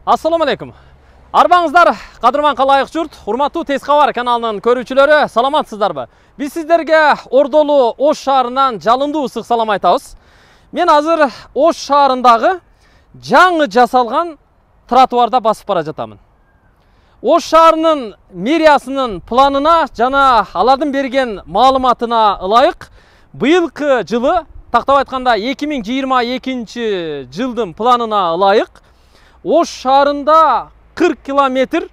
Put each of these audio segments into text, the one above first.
Assalamu alaikum. Арбаңыздар, кадырман калайык журт, урматтуу Тез кабар каналынын көрүүчүлөрү, саламатсыздарбы? Биз сиздерге Ордолу Ош шаарынан жалындуу ысык салам айтабыз. Мен азыр Ош шаарындагы жаңы жасалган тротуарда басып бара жатамын. Ош шаарынын мэриясынын планына жана алардын берген маалыматына ылайык, быйылкы жылы, тактап айтканда 2022 жылдын планына ылайык, Ош шаарында 40 километр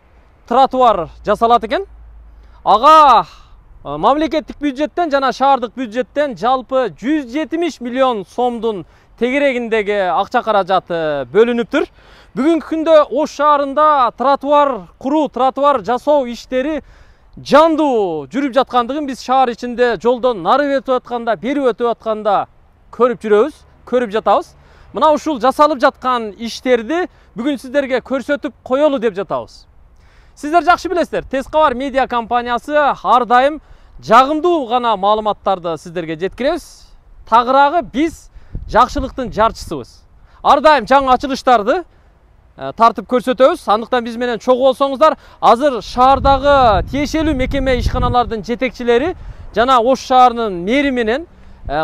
тротуар жасалат экен. Ага мамлекеттик бюджеттен жана шаардык бюджеттен жалпы 170 миллион сомдун тегерегиндеги акча каражаты бөлүнүптүр. Бүгүнкү күндө Ош шаарында тротуар куруу, тротуар жасоо иштери жандуу жүрүп жаткандыгын биз шаар ичинде жолдон нары өтүп атканда, бери өтүп атканда көрүп жүрөбүз, көрүп жатабыз. Мына ушул жасалып жаткан иштерди бүгүн сиздерге көрсөтүп коелу деп жатабыз. Сиздер жакшы билесиздер, Тез кабар медиа компаниясы ар дайым жагымдуу гана маалыматтарды сиздерге жеткиребиз. Тагыраагы биз жакшылыктын жарчысыбыз. Ар дайым жаңы ачылыштарды тартып көрсөтөбүз. Андыктан биз менен чогуу болсоңуздар, азыр шаардагы тиешелүү мекеме ишканалардын жетекчилери жана Ош шаарынын мэри менен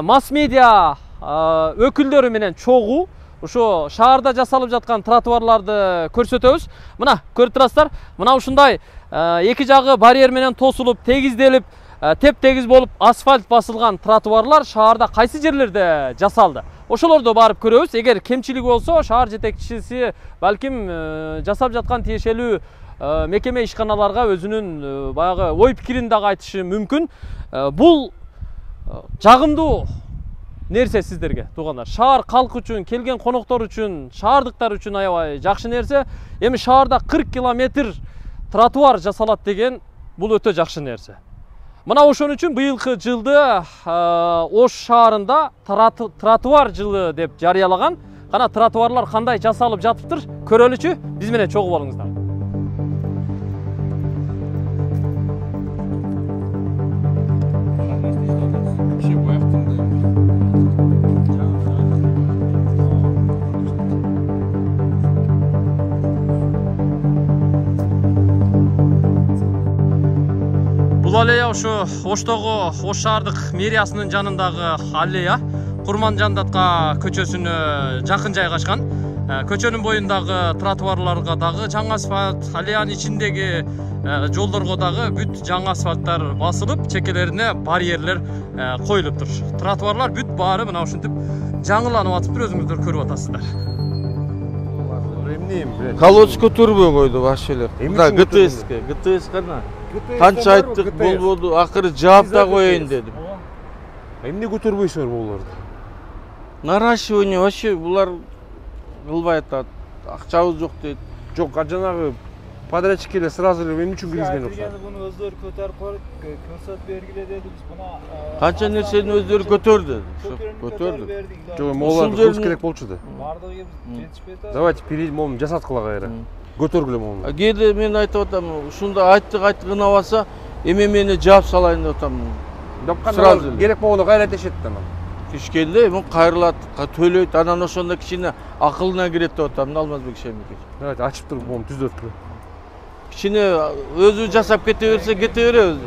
масс медиа өкүлдөрү менен чогуу ошо шаарда жасалып жаткан тротуарларды көрсөтөбүз. Мына көрүп турасыздар, мына ушундай эки жагы барьер менен тосулуп, тегизделип, теп-тегиз болуп асфальт басылган тротуарлар шаарда кайсы жерлерде жасалды. Ошолорду барып көрөбүз. Эгер кемчилиги болсо, шаар жетекчиси балким жасап жаткан тиешелүү мекеме ишканаларга өзүнүн баягы ой пикирин дагы айтышы мүмкүн. Бул жагымдуу нерсе сиздерге, туугандар. Шаар калк үчүн, келген коноктор үчүн, шаардыктар үчүн аябай жакшы нерсе. Эми шаарда 40 километр тротуар жасалат деген бул өтө жакшы нерсе. Мына ошон үчүн быйылкы жылды Ош шаарында тротуар жылы деп жарыялаган. Кана тротуарлар кандай жасалып жатыптыр, көрөлүчү. Биз менен чогуу болуңуздар. Бул аллея ушу Оштогу Ош шаардык мэриясынын жанындагы аллея. Курман Жандатка көчөсүнө жакын жайгашкан. Көчөнүн боюндагы тротуарларга дагы жаңы асфальт, аллеянын ичиндеги жолдорго дагы бүт жаңы асфальттар басылып, чекелерине барьерлер коюлуптур. Тротуарлар бүт баары мына ушинтип жаңыланып атыптыр, өзүңүздөр көрүп атасыздар. Колодец көтөрбөй койду баш эле. Да, ГТС кана. Канча айттык, болбоду, акыры жаап да коеюн дедим. Эмне көтөрбөйсүңөр буларды? Наращивание вообще булар кылбай атат. Акчабыз жок дейт. Жок, жанагы подрядчиктер сразу эле эмне үчүн киргизген окшойт? Буну өздөрү көтөрүп коюп, көрсөтүп бергиле дедибиз. Мына канча нерсени өздөрү көтөрдү. Көтөрдү. Жок, молар кылыш керек болчу да. Бардыгы жетишпей атат. Давайте перейдем, момун жасаткыла кайра. Көтөргүлө момун. Кээде мен айтып атам, ушунда айттык ынабаса, эме мени жаап салайын деп атам. Сразу керек болгондо кайра тешет да. Кичкенде эми кайрылат, төлөйт, анан ошондо кичине акылына кирет деп атам, Алмазбек Шемикович. Давайте ачып туруп момун түзөткүлө. Кичине өзү жасап кете берсе, кете беребиз.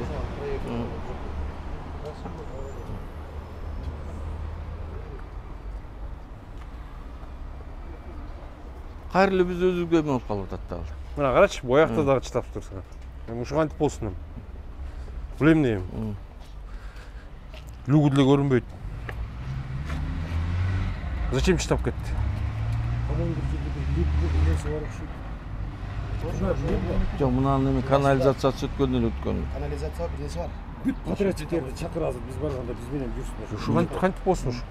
Кайрылып биз өзүбүзгө эме болуп калып атат да. Мына карачы, боякта дагы чытап турсун. Эми ушуга антип болсун. Бул эмне? Лүгү деле көрүнбөйт. Зачем чытап кетти? Жок, мунун эми канализациясы өткөн эле өткөн. Канализация бир нерсе бар. Бүт подрядчиктерди чакырабыз, биз барганда биз менен жүрсүңөр. Ушуга кантип болсун ушу?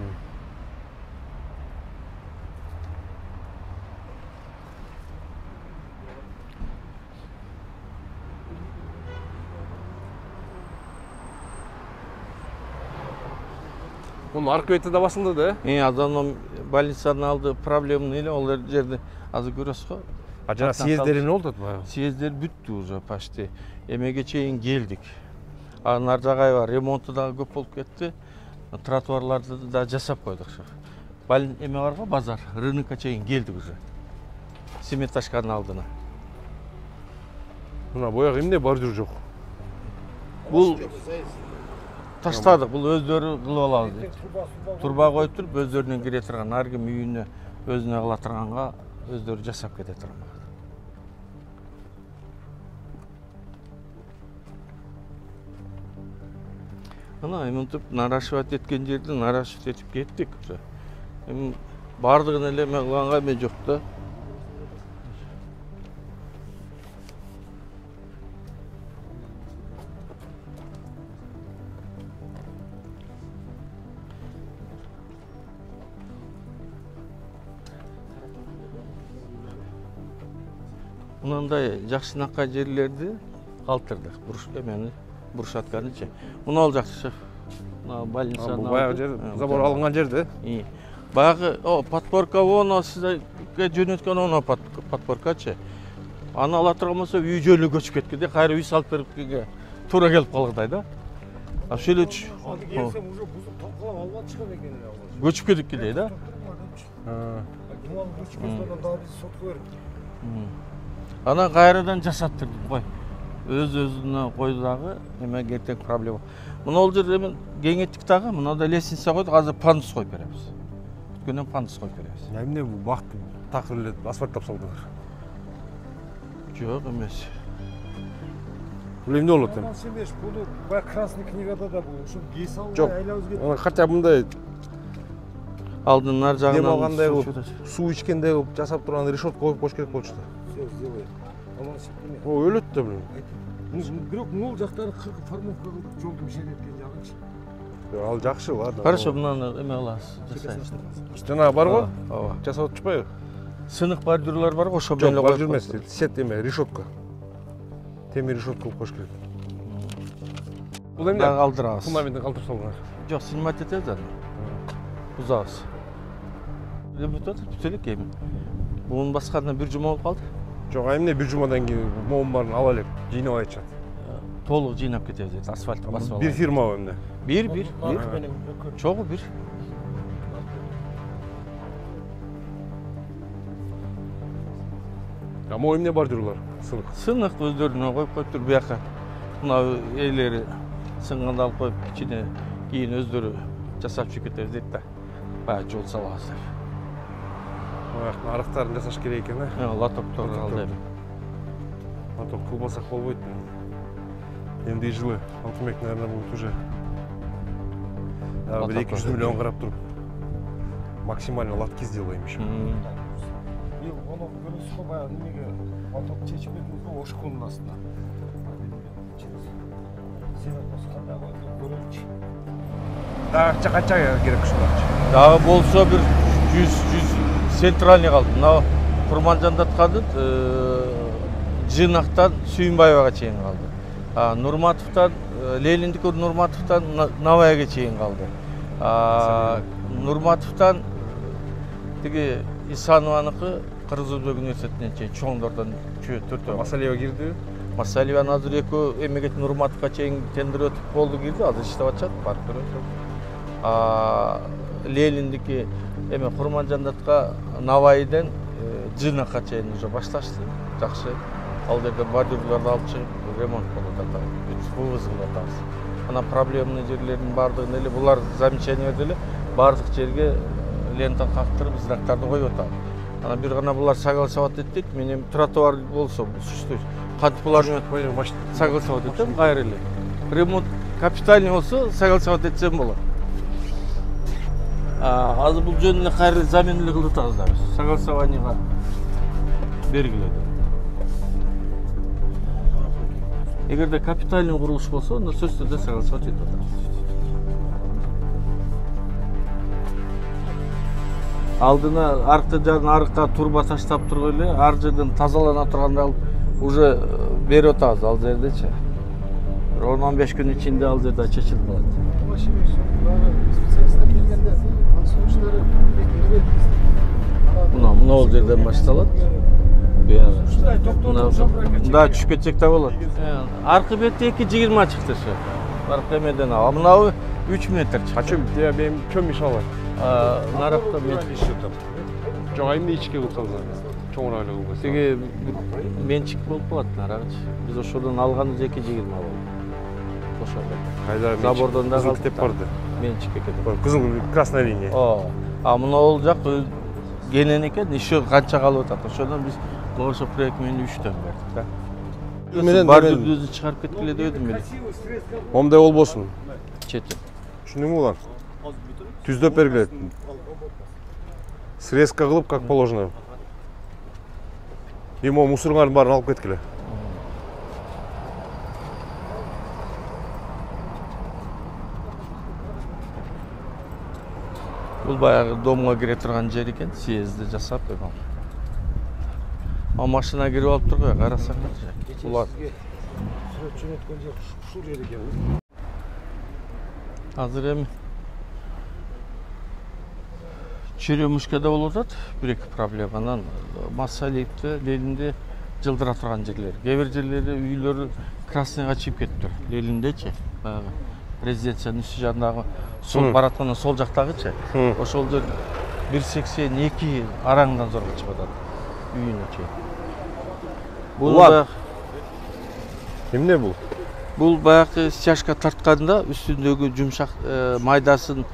Муну аркы бетте да басылды да? Адамдын больницанын алды проблема эле, ол жерде азыр көрөсүз го. А жана съезддер эмне болду атпайбы? Съезддер бүттү уже почти. Эмеге чейин келдик. Нар жагай бар, ремонту дагы көп болуп кетти. Тротуарларды да жасап койдук. Эме бар го, базар, рынокко чейин келдик уже. Семеташканын алдына. Мына бояк эмне бордюр жок. Бул таштадык, бул өздөрү кылып алабыз дейт. Турба коюп туруп өздөрүнүн кире турган ар ким үйүнө өзүнө кыла турганга өздөрү жасап кете турган. Ана мынтип нарашивать эткен жерди нарашивать этип кеттик. Эми бардыгын эле эме кылганга эме жок да. Мындай жакшынакай жерлерди калтырдык. Эмени буршатканычы. Мына ал жакшы шеф. Мына больница. Бул баягы жер, забор алынган жерде. Баягы подпорка воно сизге жөнөткөн оно подпоркачы. Аны ала турган болсо үй жөнү көчүп кеткенде кайра үй салып берипкенге туура келип калгыдай да. Ошол эле Келсем уже бузуп талкалап албады чыккан экен эле. көчүп кетипкендей да. Думан көчкөндөн дагы биз сотко берип. Ана кайрадан жасаттырдык кой. Өз-өзүнө койду дагы, эме эртең проблема. Мына ол жерде эми кеңейттик дагы, мына да лестница койдук, азыр пандус коюп беребиз. Бүткөндөн пандус коюп беребиз. Эмне бул бак такыр эле асфальттап салдыңар? Жок эмес. Бул эмне болот эми? Сенбеш, буну баягы красный книгада да бул ушул кей салып Жок. айлабыз кетти. Аны хотя бы мындай Алдын нар жагынан дем алгандай кылып, суу ичкендей кылып жасап турган решетка коюп коюш керек болчу да. Всё сделаем. Аман сиктеме. О, өлөт да блин. Бирок могул жактары формовка кылып жолду бишелеткен жагынчы. Ал жакшы, ладно. Хорошо, мынаны эме кылабыз, жасайбыз. Жанагы бар го? Ооба. Жасап атышпайбы? Сынык бордюрлар бар го, ошо Жок, менен бордюр эмес, сет эме, решетка. Темир решетка кылып коюш керек. Бул эмне? Дагы алдырабыз. Фундаментин калтырып салган. Жок, снимать этебиз аны. Бузабыз. Бүтүп атат, бүтө элек эми. Буну баскандан бир жума болуп калды. Жок, эмне бир жумадан кийин моун баарын ала элек, жыйнап айтышат. Толук жыйнап кетебиз, асфальтка басып алып. Бир фирмабы эмне? Бир. Чогуу бир. Могу эмне бордюрлар? Сынык. Сынык өздөрүнө коюп коюптур бияка. Мына ээлери сынганда алып коюп кичине кийин өздөрү жасап чыгып кетебиз дейт да. Баягы жол салабыз деп. Арыктарын жасаш керек экен, э? Лотоктор алды эми. Лоток кылбасак болбойт. Эми жылы Алтынбек, наверное, будет уже бир 200 миллион карап туруп максимально лотки сделаем еще. Бил ону көрөсүз го баягы немеге лоток чечип кетиңиз го ошконун астына. Сен кандай көрөмчү. Дагы канча керек ушулар? Дагы болсо бир 100 центральный калды. Мына Курманжандатканын Жынактан Сүйүнбаевага чейин калды. Нурматовтан Лениндики Нурматовтан Навайга чейин калды. Нурматовтан тиги Исанованыкы Кыргыз Өзбек университетине чейин чоңдордон 4 Масалиева кирди. Масалиеван азыр экөө эмегет Нурматовго чейин тендер өтүп болду кирди, азыр иштеп атышат, барып көрөсүз. Лениндики эме Курманжандатка Навайден Жынакка чейин уже башташты. Жакшы. Ал жерде бордюрларды алып чыгып ремонт болуп атат. Вывозып атабыз. Ана проблемный жерлердин бардыгын эле булар замечание берди эле, бардык жерге лента кактырып, знактарды коюп атабыз. Ана бир гана булар согласовать этти, мен тротуар болсо существует. Кантип буларны согласовать этем, кайра эле. Ремонт капитальный болсо согласовать этсем болот. Азыр бул жөнүндө кайра замена эле кылып атабыз да. Согласованиега бергиледи. Эгерде капитальный курулуш болсо, анда сөзсүз түрдө согласовать этип атабыз. Алдына аркы жагына арыкка турба таштап туруп эле, ар жерден тазалана турганда уже берип атабыз ал жердечи. 10-15 күн ичинде ал жерде чечилип калат. Специалисттер келгенде сунуштары бек Мына ол жерден башталат. Да, түшүп кетсек да болот. Аркы бетте 2,20 чыкты ошо. Аркы эмеден ал. Мынабы 3 метр чыкты. Качым, мен чөм иш алат. Наракта мен Жок, эмне ичке кылып салган? чоңураак эле кылбайсыз. Тиги менчик болуп калат нарагычы. Биз ошодон алганыбыз 2,20 болду. Ошондо. Кайда Забордон да кызыл калды. китеп барды. Менчик экен. Кызыл красная линия. А мына ол жак кенен экен, еще канча калып атат. Ошондон биз ошо проект менен 3төн бердик да. Менен бар дүрдүздү чыгарып кеткиле дебедим эле. Момундай болбосун. Чети. Түшүндүңбү улан? Түздөп бергиле. Срезка кылып, как положено. Эми мусоруңардын баарын алып кеткиле. Бул баягы домго кире турган жер экен, съезди жасап эми. Машина кирип алып тургуй, карасаңарчы. Улар Сүрөт жөнөткөн жер ушул жер экен. азыр эми Черемушкада болуп атат бир-эки проблема. Анан Массалиевде, Ленинде жылдыра турган жерлер. Кээ бир жерлери үйлөрү красныйга чыгып кетиптир. Лениндечи, баягы резиденциянын үстү жагындагы сол бараткандан сол жактагычы. Ошол жер 1,82 араңдан зорго чыгып атат. Үйүнөчү. Улан. Эмне бул? Бул баягы стяжка тартканда үстүндөгү жумшак майдасын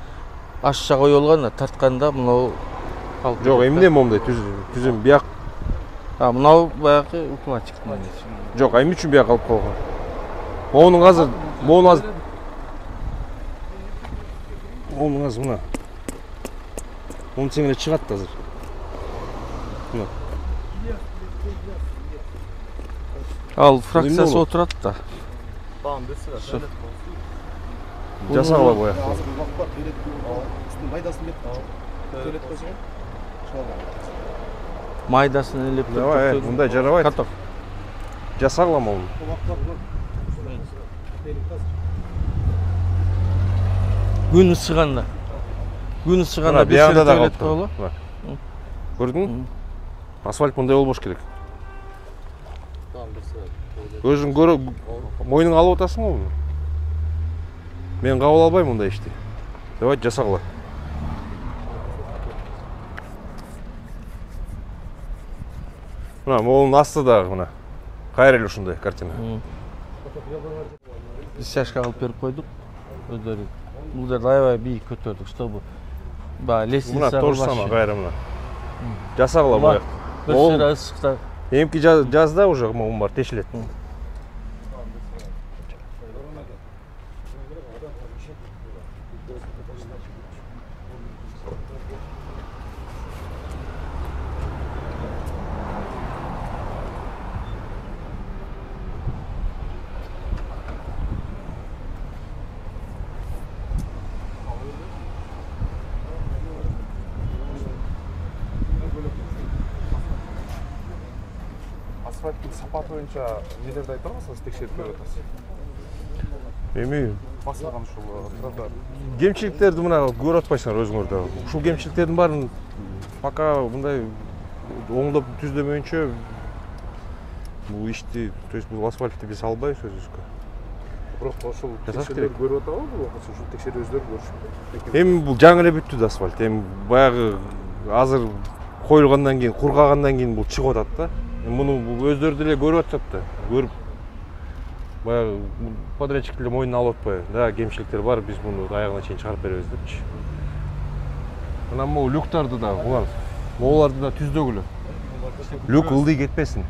ашча коюлган, тартканда мынау калып. Жок, эмне момундай түзүм бияк. Мынау баягы укладчиктин эмеси. Жок, эмне үчүн бияк калып калган? Монун азыр мына. Монун тең эле чыгат азыр. Мына. Ал фракциясы отурат да. Жасагыла боя. Майдасын элеп Давай, мындай жарабайт. Каток. Жасагыла муну. Күн ысыганда. Биягында да калып. Көрдүңбү? Асфальт мындай болбош керек. Өзүң көрүп, мойнуңа алып атасыңбы муну? Мен кабыл албайм мындай ишти. Давай жасагыла. Мына могунун асты дагы мына. Кайра эле ушундай картина. Биз стяжка кылып берип койдук. Өздөрү бул жерде аябай бийик көтөрдүк, чтобы баягы лестница. Мына тоже самое кайра мына. Жасагыла боя. Бир сыйра ысыкта. Эмки жазда уже могун бар тешилет. Асфальттын сапаты боюнча нелерди айта аласыз, текшерип көрүп атасыз? Эми Басылган ушул тротуар. кемчиликтерди мына көрүп атпайсыңар өзүңөр да. Ушул кемчиликтердин баарын пока мындай оңдоп түздөмөйүнчө бул ишти, то есть бул асфальтты биз албайбыз өзүбүзгө. Бирок ошол текшерүүлөр көрүп атабы, бул ошол текшерүү өздөрү көрүшүп. Эми бул жаңы эле бүттү да асфальт. Эми баягы азыр коюлгандан кийин, кургагандан кийин бул чыгып атат да. Муну өздөрү деле көрүп атышат да. Көрүп баягы подрядчик деле мойнуна алып атпайбы. Да, кемчиликтер бар, биз муну аягына чейин чыгарып беребиз депчи. Анан могу люктарды да улан. Моуларды да түздөгүлө. Люк ылдый кетпесин.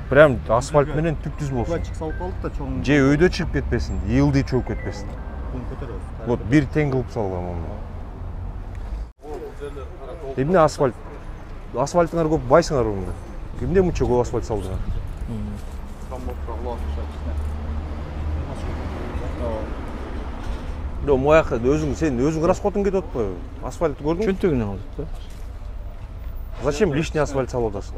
Прям асфальт менен түп-түз болсун. Пластик салып калдык да чоң. Же өйдө чыгып кетпесин, ылдый чөгүп кетпесин. Көтөрөбүз. Вот бир тең кылып салган муну. Эмне асфальт? Асфальтыңар көп байсыңар мында. Эмне мынча көп асфальт салдыңар? Жок, мояка сен өзүң расходуң кетип атпайбы? Асфальт көрдүңбү? Чөнтөгүнөн алдык да. Зачем лишний асфальт салып атасың?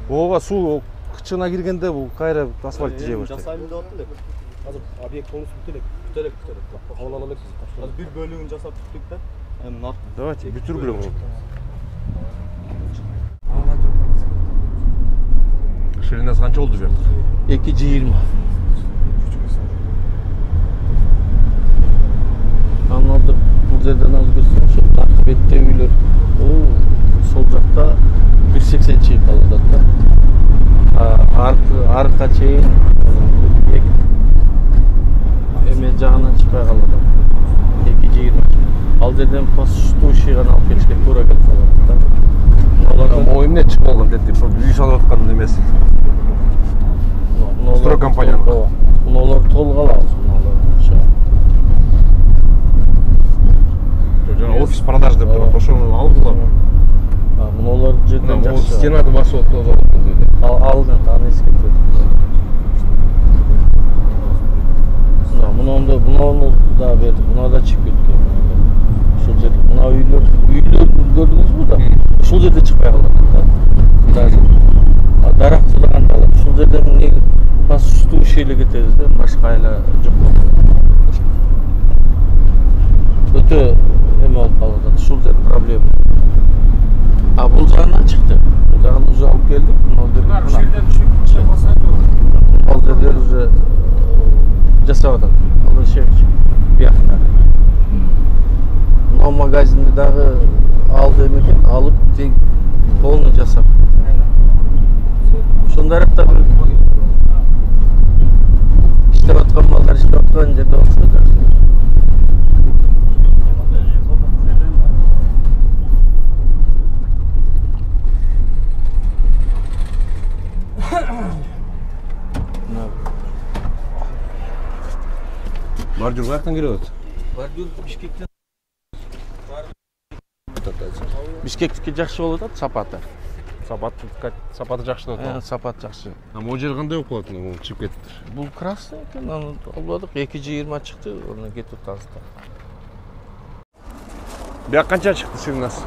Ооба суу кычына киргенде бул кайра асфальт жей баштайт. Жасайм деп аттым деп. Азыр объект полностью бүтөлөк. Кабыл ала элекпиз. Азыр бир бөлүгүн жасап бүттүк да. Эми нар. Давайте бүтүргүлө муну. Ширинасы канча болду бу? 2,20. Анан бул жерден алып көрсөң, ошол бетте үйлөр. Сол жакта 180 чейин калып атат да. Арка чейин эме жагынан чыкпай калып атат. 220. Ал жерден пасуштууший гана алып келишке туура келип калат да. Могу эмне чыгып алган деди, үй салып аткан эмеси. Строй компаниянын. Мунулар толук алабыз, мунулар. Жана офис продаж деп турат, ошону алдылар. Мунулар жерден жакшы. Стенады басып отурду. Алдын аны эскертет. Муну да берди, муну да чыгып кеткен. Ушул жерде мына үйлөр көрдүңүзбү да? Ушул жерде чыкпай калат да. Дарактыдан алып ушул жерден эмне пасуштуушийлик этебиз да, башка айла жок болот. Өтө эме болуп калып атат, ушул жер проблема. Бул жагынан чыкты. Бул жагын уже алып келдик. Ушул жерден түшүп басат. Ал жерлер уже жасап атат. Ал иши биякта. Но магазинди дагы алды экен, алып тең полный жасап. Ошондой аракта иштеп аткан балдар иштеп аткан жерде болсо жакшы. Бордюр каяктан келип атат? Бордюр Бишкектен. Бишкектики жакшы болуп атат, сапаты. Сапаты жакшы деп атат. Сапат жакшы. Могу жер кандай болуп калат, муну чыгып кетиптир. Бул красный экен, аны албадык. 220 чыкты, аны кетип атабыз да. Бияк канча чыкты сигнас?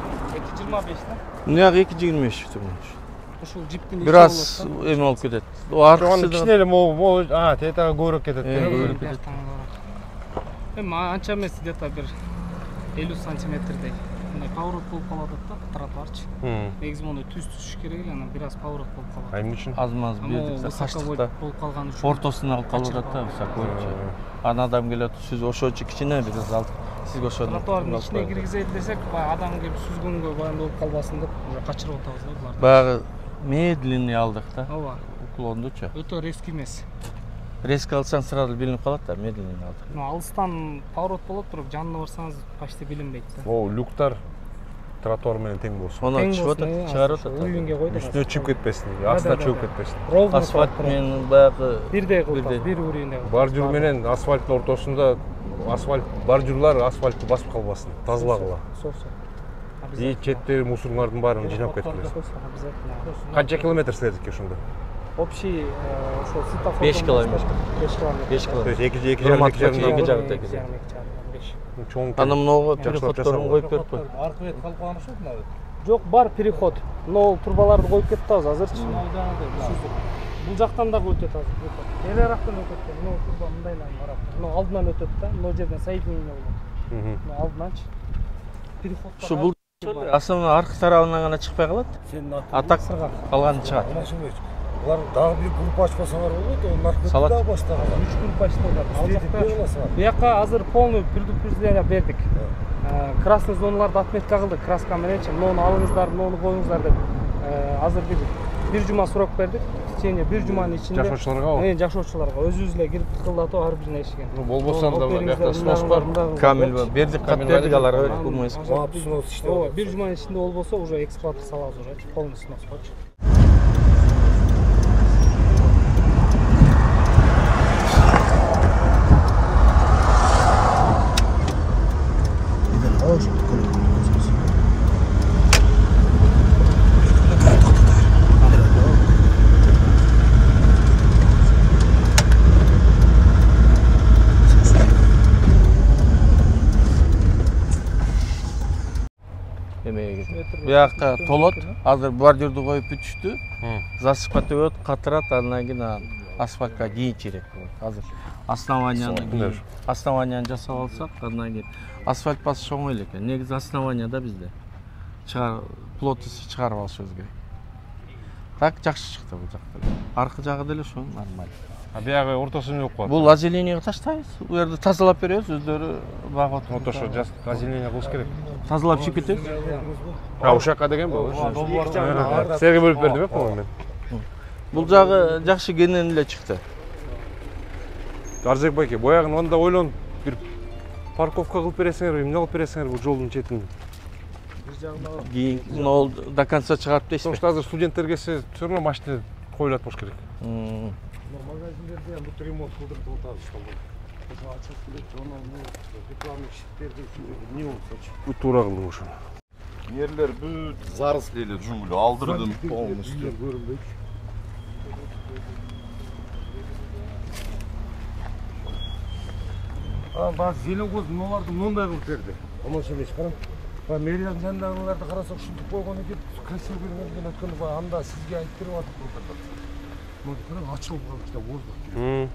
225 да. Мына 225 чыкты. Ушул джиптин Бир аз эме болуп кетет. Аны кичине эле могу тетага көбүрөөк кетет. Көбүрөөк кетет. Эми анча эмес, где-то бир 50 сантиметрдей. Мындай поворот болуп калат да, тротуарчы. Негизи муну түз керек эле, анан бир аз поворот болуп калат. Эмне үчүн? Аз-маз бердик, качтыкта болуп калган үчүн. Ортосуна алып калып атат да, высокойчу. Ана адам келет, сүз ошочу кичине бир аз алып. Сизге ошону. Тротуардын ичине киргизели десек, адам келип сүзгөнгө баягы болуп калбасын деп уже качырып атабыз да буларды. Баягы медленный алдык да. Ооба. Уклондучу. Өтө резкий эмес. Резко алсаң сразу билинип калат да, медленный алдык. Алыстан поворот болот, бирок жанына барсаңыз почти билинбейт да. Люктар тротуар менен тең болсун. Аны чыгып атат, чыгарып атат. Үйлүнгө койдук. Үстүнө чыгып кетпесин, астына чыгып кетпесин. Асфальт менен баягы бирдей кылып, бир урийинде. Бордюр менен асфальттын ортосунда бордюрлар асфальтты басып калбасын, тазалагыла. И четтеги мусорлордун баарын жыйнап кеткиле. Обязательно. Канча километр следик ошондо? Общий ошо светофор 5 километр. 5 километр. 5 То есть километр. эки жарым Чоң. Аны многу переходторун коюп берип кой. Аркы бет калып калган ошо мына. Жок, бар переход. Но турбаларды коюп кетти азыр азырчы. Бул жактан дагы өтөт азыр. Бери арактан өтөт. Но турба мындайлан барат. Но алдынан өтөт да. Но жерден соединение болот. Но алдынанчы. Переход. Ушу бул основной аркы тарабынан гана чыкпай калат. А так калганы чыгат. Булар дагы бир группа ачпасаңар болот, онун аркасында дагы баштаган. 3 группа ачтылат. Ал жакта бияка азыр полный предупреждение бердик. Красный зоналарды отметка кылдык краска мененчи. Муну алыңыздар, муну коюңуздар деп. Азыр бир жума срок бердик. В течение бир жуманын ичинде жашоочуларга, жашоочуларга өзүбүз эле кирип тыкылдатып ар бирин эшигин. Болбосо анда биякта снос бар. Камил бердик, кат бердик аларга, кумайсыз. Ооба, бир жуманын ичинде болбосо уже эксплуатация салабыз уже, полный снос болчу. Бияка толот, азыр бордюрду коюп бүтүштү. Засыпка төбөт, катырат, андан кийин асфальтка кийинчерээк болот. Азыр основанияны жасап алсак, андан кийин асфальт басыш оңой эле экен. Негизи основания да бизде. Плотность чыгарып алышыбыз керек. Так жакшы чыкты бул жакта. Аркы жагы деле ошо нормаль. А биягы ортосун эмне болуп калат? Бул озеленение таштайбыз. Бул жерди тазалап беребиз, өздөрү багып отурат. Вот ошо озеленение кылыш керек. Тазалап чыгып кетебиз. А ушакка деген бул. Силерге бөлүп бердим, по-моему мен. Бул жагы жакшы кенен эле чыкты. Арзек байке, боягын анда ойлонуп бир парковка кылып бересиңерби, эмне кылып бересиңерби бул жолдун четин? Кийин до конца чыгарып дейсизби? Потому что азыр студенттер келсе, всё равно машина коюлат болуш керек. Магазиндерде ham bu ремонт кылдырып атабыз ошол. Ошо ачып келет, журнал, рекламный щиттерди не болсочу. Бу туура кылдым ошо. Yerler бүт зарысли эле жуңгул алдырдым полностью. Баары зеленкоз мыналарды мындай кылып берди. Аманша эмес карам. Мэриянын жанындагыларды карасак ушинтип койгон экен, красиво көрүнгөн өткөндө баягы анда сизге айтып берип атып турду. Мына караң ачылып калды, воздух келет.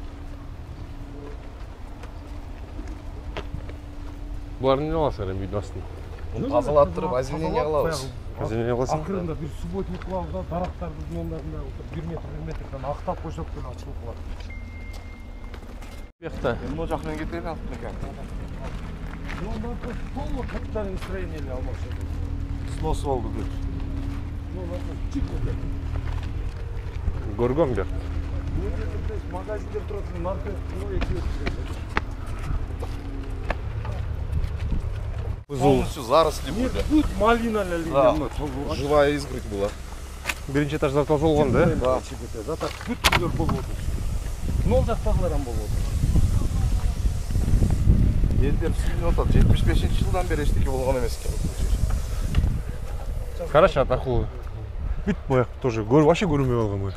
Буларды эмне кыласыңар эми үйдүн астын? Муну тазалаттырып, озеленение кылабыз. Озеленение кыласың? Акырында бир субботник кылабыз да, дарактардын мындагында 1 метрден актап койсок деле ачылып калат. Бuyakta. Бул жактан кетели алып экен. Полный капитальный строение эле алмакчы. Снос болду бүт. Көргөм бияк. Магазиндер турат, маркет, Полностью заросли были. Тут малиналар Да. Живая изгородь была. Биринчи этажда тозолгон да? Да. Зато бүт үйлөр болуп отур. Нол жактагылар ham болуп отур. Элдер сүйүнүп атат. 75-жылдан бери эчтеке болгон эмес экен. Хорошо, атакулуу. Бүт бояк тоже вообще көрүнбөй калган бу.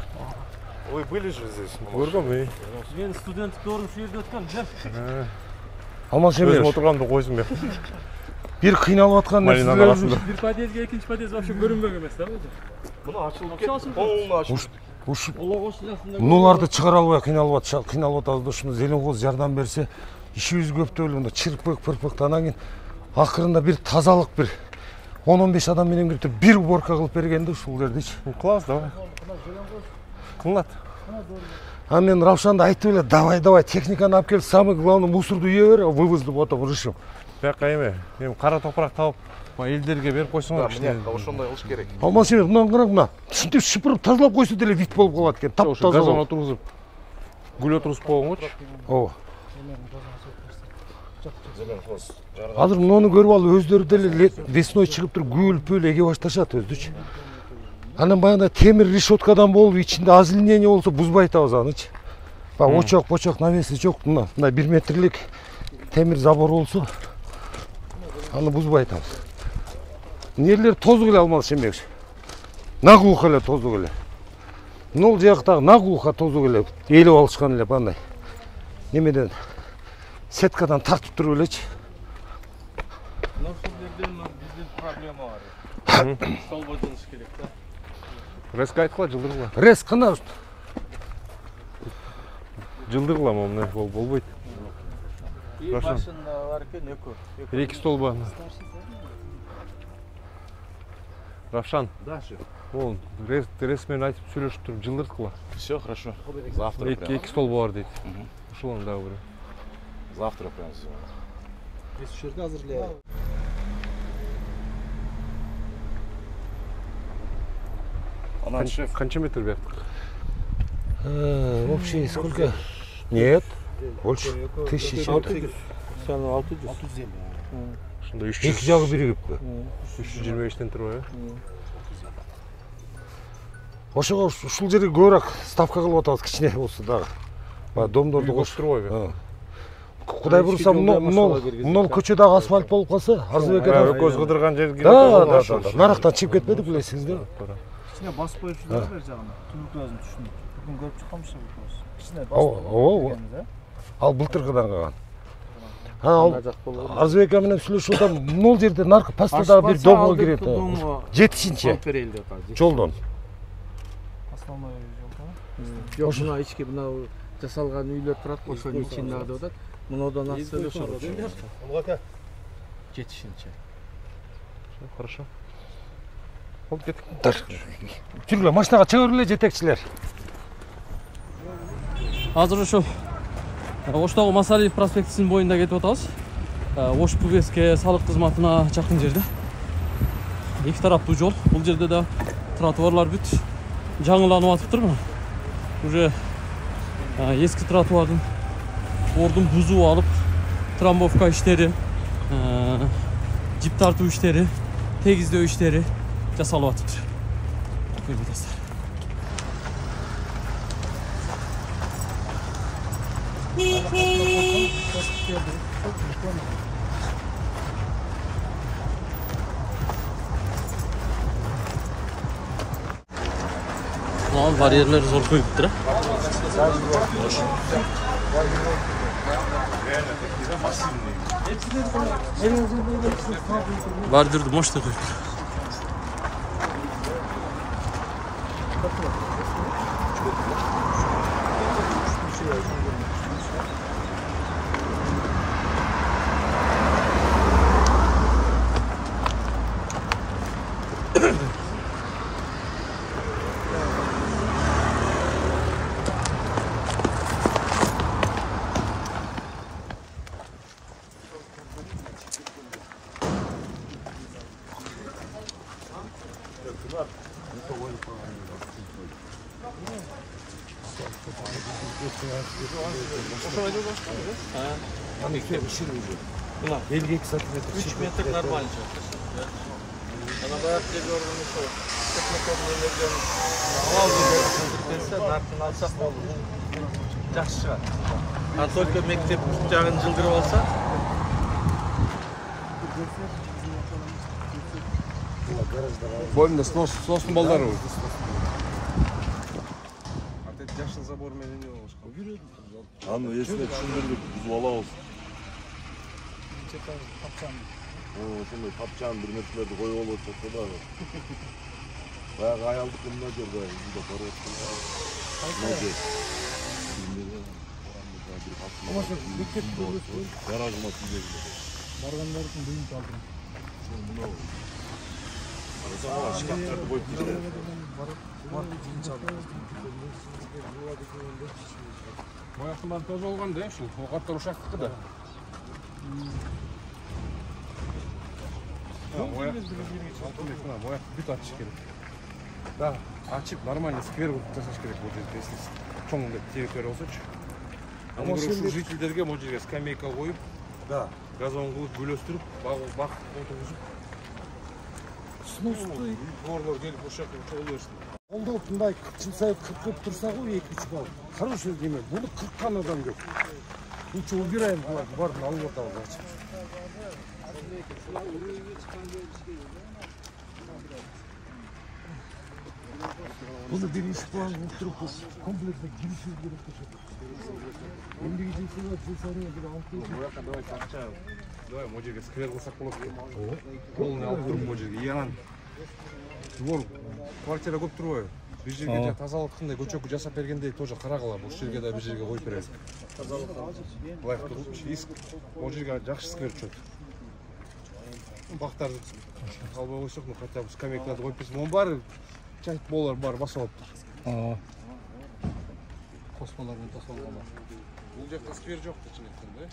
Вы были же здесь? Көргөм. Мен студенттик орун ушул жерде өткөм. Алмаз Өзүм эмес. отурганымда койсун бияк. Бир кыйналып аткан Малинанын нерселер арасында. Бир подъездге экинчи подъезд вообще көрүнбөк эмес да бул? Муну ачылып кетти. Полный ачылып. ушу мунуларды чыгара албай кыйналып атабыз да, ушуну зеленкоз жардам берсе, ишибиз көптөп эле мында чырпык, анан кийин акырында бир тазалык бир 10-15 адам менен кирип бир уборка кылып бергенде ушул жердичи. Кылабыз, давай. Кылынат. А мен Равшанды айтып эле, давай техниканы алып кел, самый главный мусорду үйө бер, вывозду потом решим. Бияка эми кара топурак табып, элдерге берип койсоңор. Мына ошондой кылыш керек. Алмаз эмес, мынаны караң, мына ушинтип шыпырып тазалап койсо деле вид болуп калат экен. Ошо газон отургузуп, гүл отургузуп койгоңочу. Ооба. Азыр муну көрүп алып өздөрү деле весной чыгып туруп гүл эге башташат өздүчү. Анан баягы темир решеткадан болуп, ичинде озеленение болсо бузбай атабыз анычы. Очок, навеси жок, мына 1 метрлик темир забор болсо аны бузбай атабыз. Нерлер тозук эле Алмаз Шембекович. Наглухо эле тозук эле. Нол жактагы наглухо тозук эле ээлеп алышкан эле бандай. Немеден сеткадан тартып туруп элечи. Мына ушул жерде биздин проблема бар. Столбо жылыш керек да. Резко айткыла, жылдыргыла. Рез кана Жылдыргыла мына болбойт. И машина бар экен, экөө. Эки столба. Равшан. Да, шеф. Ол рез менен айтып сүйлөшүп туруп жылдырткыла. Все хорошо. Завтра прямо. Эки столба бар дейт. Ошолон дагы бир. Завтра прямо все. Биз ушул жерде азырлайбыз. Анан шеф. Канча метр бияк? Вообще сколько? Нет, больше 1600. 600. Ошондо Эки жагы биригиппи? 325 турбайбы? Ошого ушул жерге көбүрөөк ставка кылып атабыз, кичине болсо дагы. Баягы домдорду Кош турбайбы? Кудай буюрса, мынол көчө дагы асфальт болуп калса, Арзыбек Өкөз кыдырган жерге. Да. Нарактан чыгып кетпедик билесиңиздерби? Кичине басып коюшулар бер жагына. Түнүктү түшүнүп. Бүгүн көрүп чыкканбыз бул. Кичине Ооба. Ал былтыркыдан калган. Арзыбек менен сүйлөшүп атам, мынол жерде наркы пастадагы бир домго кирет. Жетишинче жолдон. основной жол. Жок, мына ички мына жасалган үйлөр турат, ошонун ичинде деп атат. Мынодон астын ошо. Жетишинче. Хорошо. Болуп кетиптир. Жүргүлө, машинага чыгып эле жетекчилер. Азыр ушу Оштогу Масалиев проспектисинин боюнда кетип атабыз. Ош ПГСке салык кызматына жакын жерде. Эки тараптуу жол. Бул жерде да тротуарлар бүт жаңыланып атыптыр мына. Уже эски тротуардын ордун бузуп алып, трамбовка иштери, жип тартуу иштери, тегиздөө иштери жасалып атыптыр. Көрүп атасыздар. Bariyerler zor koyuptur. Bardırdı, moş da koyuptur. Belki 2 santimetre. 3 metre normal. Ana bayağı bir yorgun bir şey. Teknokomunu veriyorum. Hava alıyor. Narkını alsak mı olur? Жақсы шығар. А только мектеп жағын жылдырып алса. Бойымда сносын балдары ғой. Жашыл забор менен не болушка. Аны есіне түшүндүрдүк, бұзып алабыз. Ошондой тапчан бир нерселерди коюп алып жатса дагы. Баягы аялдык мына жерде үйдө барып аткан. Гаражыма тийген. Баргандардын бүйүн калдым. Шкафтарды коюп кеткен. Баягы баары тоже болгон да, ушул окаттар ушактыкы да. Бояк бүт ачыш керек. Да, ачып нормально сквер кылып жасаш керек бул жерде, если чоң деп теректер болсочу. Аны ушул жителдерге бул жерге скамейка коюп, да, газон кылып гүлөстүрүп, бак отургузуп. Сностой Горлор келип ошол жака чогулу берсин. Колдоп мындай жыл сайын 40 турса го 2-3 бал. Хороший деме. Буну 40 адам жок. Лучше убираем кылат, барын алып атабыз ачып. Bunu birinci puan oturup komplekse girişiz gerek taşıdık. Şimdi gideceksiniz, cesareye bir altı. Давай капча. Давай можерге сквер кылсак болот. Колун алып туруп можерге янан. Двор квартира көп турбайбы? Бир жерге тазалык кандай көчөкү жасап бергендей тоже карагыла. Бул жерге да бир жерге коюп беребиз. Тазалык былай туруп, иск можерге жакшы сквер чөт. Бактарды албай койсок, хотя бы скамейкаларды коюп берсем, onun баары чайт болар бар басып алыптыр. Космолор менен тосолгон. Бул жакта сквер жок да чыныкты, да?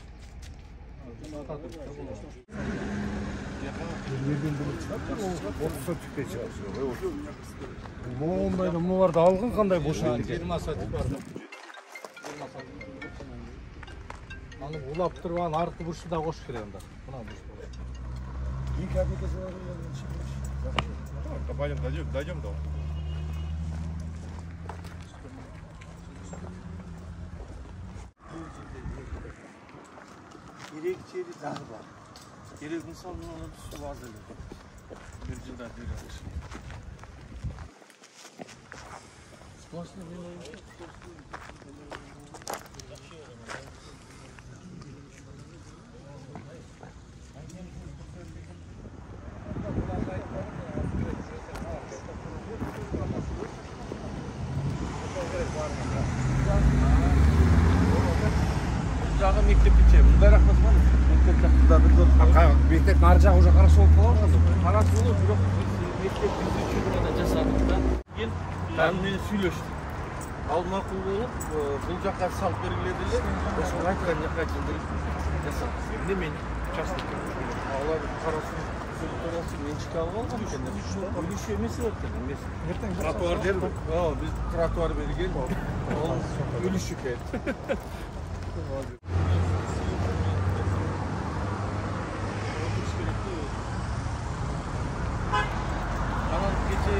Мондайда муларды алган кандай бош экен. 20 сатып барды. Аны улап туруп анын аркы бурчу да кош керек анда. Мына буш болот. İlk aplikası var. Дойдем до. Керек жери дагы бар. Керек мисалы мына суу азыр. Бир жылда бир алыш. Жагы мектепче, мындай рахмат бар. Мектеп жактырдыр. Мектеп нар жагы уже карасы болуп калган. Карасы болот, бирок мектептин Мен сүйлөштүм. Ал макул болуп, бул жакка салып бергиле деле. Ошол айткан жакка жасап. Эмне мен участок алар карасын сүрөттөрөсү менчикке алып алган экен. Үлүш эмес эмес. Тротуар дерби? Биз тротуар берген. Ол үлүш экен. Анан кече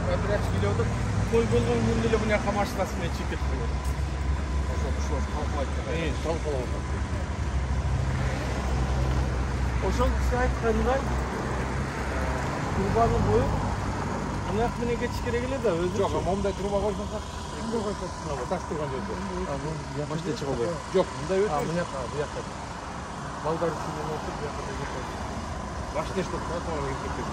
квадрат келип той болгон күндө эле мына машинасы менен чекет койгон. Ошол талкалап атат. Ошол киши айткандай турбаны коюп, мынак менен кетиш керек эле да өзү. Жок, момундай труба койсоңуз кимге койсоңуз таш турган жерде. Башта чыга койгон. Жок, мындай өтө. Мынакка, буякка. Балдар үчүн отуруп, буякка кетет. Башта эштеп тротуарга кетет.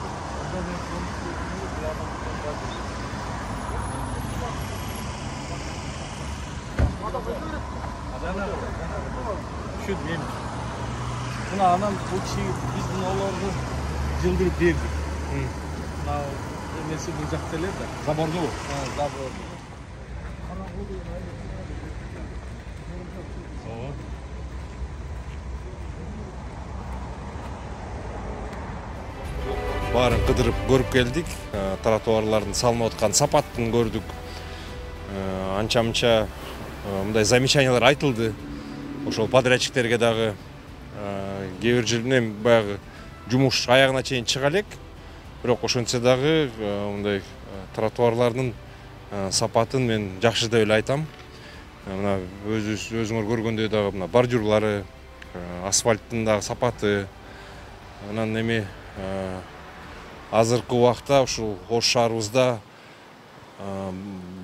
Түшүндүм. Мына анан бул киши биздин олорду жылдырып бердик. Мына эмеси бул жакта эле да. Заборду. Забор. Баарын кыдырып көрүп келдик. Тротуарлардын салынып аткан сапатын көрдүк. Анча-мынча мындай замечаниялар айтылды. Ошол подрядчиктерге дагы кээ бир жеринен баягы жумуш аягына чейин чыга элек. Бирок ошентсе дагы мындай тротуарлардын сапатын мен жакшы деп эле айтам. Мына өзүңөр көргөндөй дагы мына бордюрлары, асфальттын дагы сапаты. Анан эми азыркы убакта ушул Ош шаарыбызда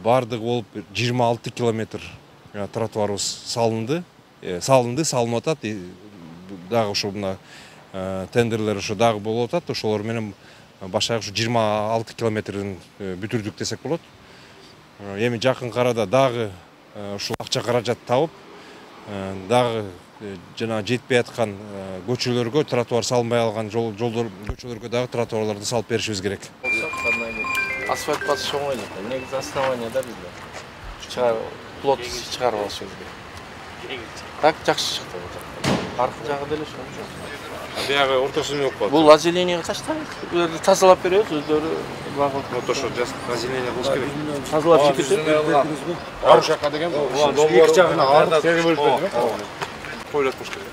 бардыгы болуп 26 километр тротуарыбыз салынып атат. Дагы ошо мына тендерлер ошо дагы болуп атат. Ошолор менен башка ушу 26 километрин бүтүрдүк десек болот. Эми жакынкы арада дагы ушул акча каражат табып, дагы жана жетпей аткан көчөлөргө тротуар салынбай калган жолдор көчөлөргө дагы тротуарларды салып беришибиз керек. Асфальт басыш оңой эле. Негизи основанияда бизде плот чыгарып алышыбыз керек. Так жакшы чыкты. Аркы жагы деле ошо. Биягы ортосун жок болот. Бул озеленияга таштайбыз. Буларды тазалап беребиз, өздөрү багып. Ошо озеление кылыш керек. Тазалап чекет. Арушакка деген эки жагына арды бөлүп бердик. Койлоткуш керек.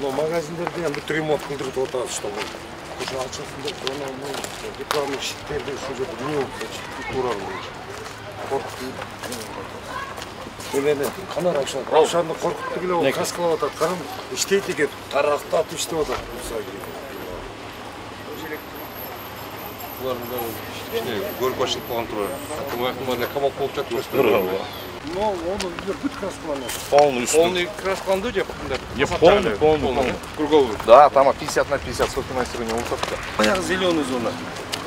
Но магазиндерде ham бүт ремонт кылдырып атабыз, что болду. Ошо ачылсында рекламный щиттерди ушул жерде эмне болуп туура коркуп. Эмени кана Равшанды коркутту келе ол каскалап атат. Карам, иштейт экен, тарактап иштеп атат. Булардын дагы көрүп ачылып калган турар. Акымактын камап болуп жатты. Но оны бүт краскаланат. Полный краскаланды же мындай? Полный. Круговой. Да, там 50 на 50 софинансирование болуп атат. Баягы зеленый зона.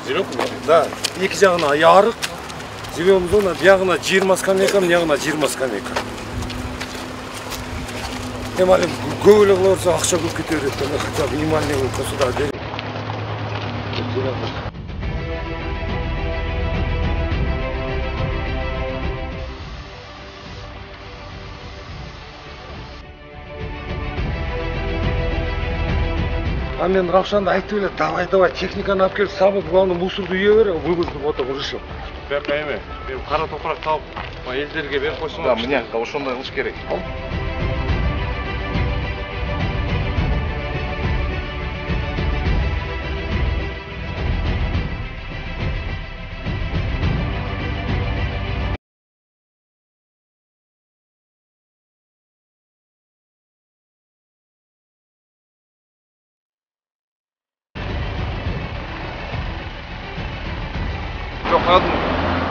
Зеленый? Да, эки жагына ярык. Зеленый зона, биягына 20 скамейка, биягына 20 скамейка. Эми али көп эле кыла берсе акча көп кете берет. Хотя бы минимальный сюда берет. А мен Равшанды айтып эле, давай, техниканы алып келип, сабы главный мусорду үйө бер, вывозду вот так решил. Берме эме, мен кара топурак табып, элдерге берип койсоң. Да, мына ошондой кылыш керек.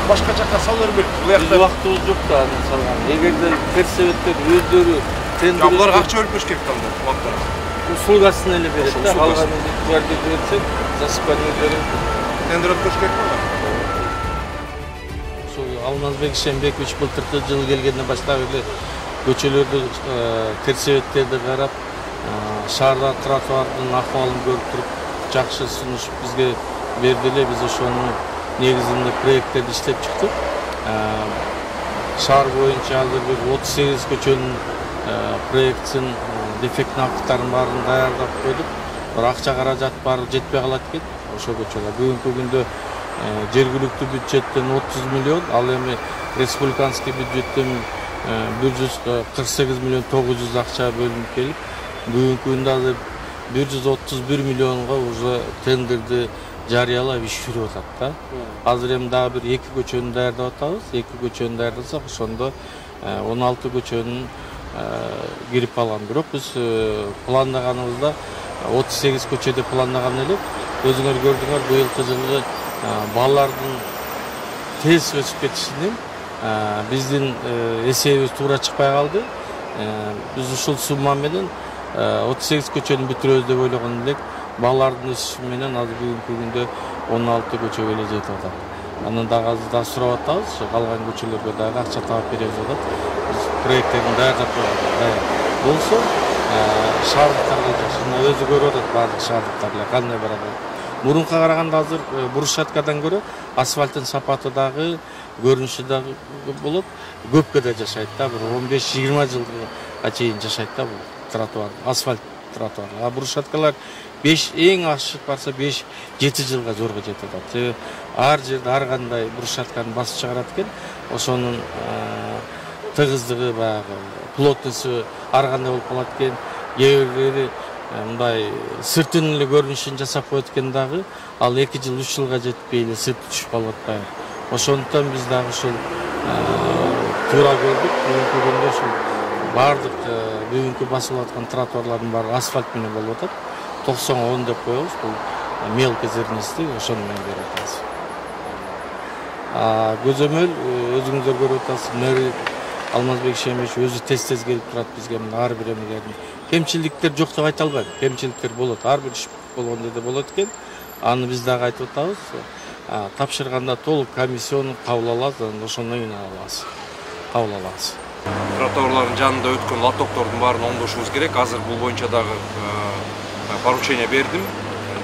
Башка жакка салып бербейт. Биз убактыбыз жок да аны салган. Эгерде персеветтер өздөрү тендер буларга акча бөлүп бериш керек да убакта. Услугасын эле берет да, калганын барды берсек, засыпание берип тендер өткөрүш керек да. Ошол Алмазбек Шембекович былтыркы жылы келгенден баштап эле көчөлөрдү, персеветтерди карап, шаарда тротуардын акыбалын көрүп туруп, жакшы сунуш бизге берди эле. Биз ошону негизинде проекттерди иштеп чыктык. Шаар боюнча азыр биз 38 көчөнүн проектсин, дефектный акттарын баарын даярдап койдук. Бирок акча каражат баары жетпей калат экен ошол көчөлөр. Бүгүнкү күндө жергиликтүү бюджеттен 30 миллион, ал эми республиканский бюджеттен 148 миллион 900 акча бөлүнүп келип, бүгүнкү күндө азыр 131 миллионго уже тендерди жарыялап иш жүрүп атат да. Азыр эми дагы бир 2 көчөнү даярдап атабыз. 2 көчөнү даярдасак, ошондо 16 көчөнүн кирип алган. Бирок биз пландаганыбызда 38 көчө деп пландаган элек. Өзүңөр көрдүңөр, быйылкы жылы балалардын тез өсүп кетишинен биздин эсебибиз туура чыкпай калды. Биз ушул сумма менен 38 көчөнү бүтүрөбүз деп ойлогон элек. Балалардын өсүшү менен азыр бүгүнкү күндө 16 көчөгө эле жетип атат. Анан дагы азыр да сурап атабыз, калган көчөлөргө дагы акча таап беребиз деп атат. Биз проекттерди даярдап койгонбуз. Болсо шаардыктарга жакшы, өзү көрүп атат баардык шаардыктар эле кандай барат. Мурунка караганда азыр брусчаткадан көрө асфальттын сапаты дагы, көрүнүшү дагы болот. Көпкө да жашайт да, бир 15-20 жылга чейин жашайт да бул тротуар, асфальт тротуар. А брусчаткалар эң ашып барса 5-7 жылга зорго жетип атат. Ар жерде ар кандай брусчатканы басып чыгарат экен. Ошонун тыгыздыгы, баягы плотносту ар кандай болуп калат экен. Эгер мындай сыртын эле көрүнүшүн жасап коет экен дагы, ал 2 жыл 3 жылга жетпей эле сырты түшүп калып атпайбы. Ошондуктан биз дагы ушул туура көрдүк. Бүгүнкү күндө ушул баардык бүгүнкү басылып аткан тротуарлардын баары асфальт менен болуп атат. 90-10 деп коебуз, бул мелкий зернистий, ошону менен берип атабыз. Көзөмөл өзүңүздөр көрүп атасыз, мэр Алмазбек Шемиш өзү тез келип турат бизге, ар бир эмелердин. Кемчиликтер жок деп айта албайм. Кемчиликтер болот, ар бир иш болгондой да болот экен. Аны биз дагы айтып атабыз. Тапшырганда толук комиссияны кабыл алабыз, ошондон кийин кабыл алабыз. Тротуарлардын жанында өткөн лотоктордун баарын оңдошубуз керек. Азыр бул боюнча дагы поручение бердим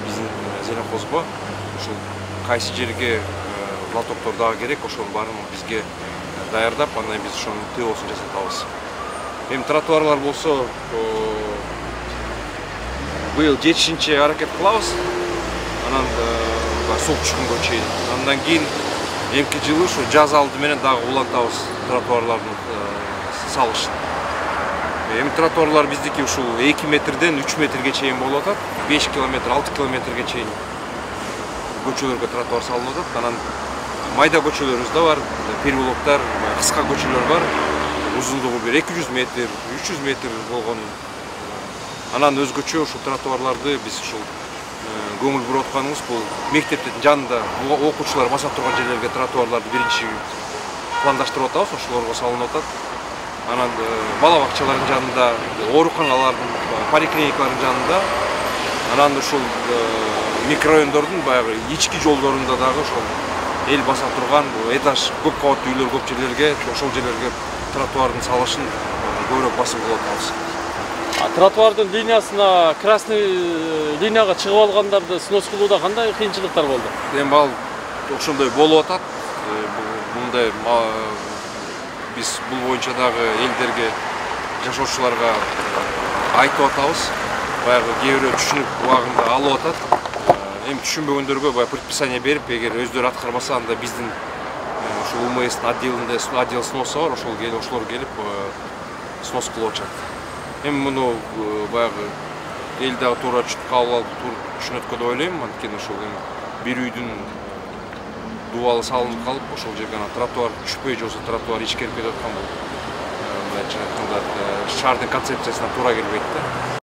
биздин Зеленхозго. Ушул кайсы жерге лотоктор дагы керек, ошонун баарын бизге даярдап, андан биз ошонун ТОсун жасатабыз. Эми тротуарлар болсо быйыл жетишинче аракет кылабыз. Анан суу түшкөнгө чейин. Андан кийин эмки жылы ушу жаз алды менен дагы улантабыз тротуарлардын салышын. Эми тротуарлар биздики ушул 2 метрден 3 метрге чейин болуп атат. 5 километр, 6 километрге чейин көчөлөргө тротуар салынып атат. Анан майда көчөлөрүбүз да бар, переулоктар, кыска көчөлөр бар. Узундугу бир 200 метр, 300 метр болгон. Анан өзгөчө ушул тротуарларды биз ушул көңүл буруп атканыбыз бул мектептин жанында окуучулар баса турган жерлерге тротуарларды биринчи пландаштырып атабыз, ошолорго салынып атат. Анан бала бакчалардын жанында, ооруканалардын, поликлиникалардын жанында, анан ушул микрорайондордун баягы ички жолдорунда дагы ошол эл баса турган этаж көп кабаттуу үйлөр көп жерлерге, ошол жерлерге тротуардын салышын көбүрөөк басым кылып атабыз. Тротуардын линиясына, красный линияга чыгып алгандарды снос кылууда кандай кыйынчылыктар болду? Эми ал ошондой болуп атат. Мындай биз бул боюнча дагы элдерге, жашоочуларга айтып атабыз. Баягы кээ бирөө түшүнүп убагында алып атат. Эми түшүнбөгөндөргө баягы предписание берип, эгер өздөрү аткарбаса, анда биздин ушул УМСдин отделинде отдел сноса бар, ошолор келип снос кылып атышат. Эми муну баягы эл дагы туура кабыл алып түшүнөт деп ойлойм. Анткени ошол бир үйдүн дубалы салынып калып, ошол жерге тротуар түшпөй же болбосо тротуар ичкерип кетип аткан бул. Мындайча айтканда шаардын концепциясына туура келбейт да.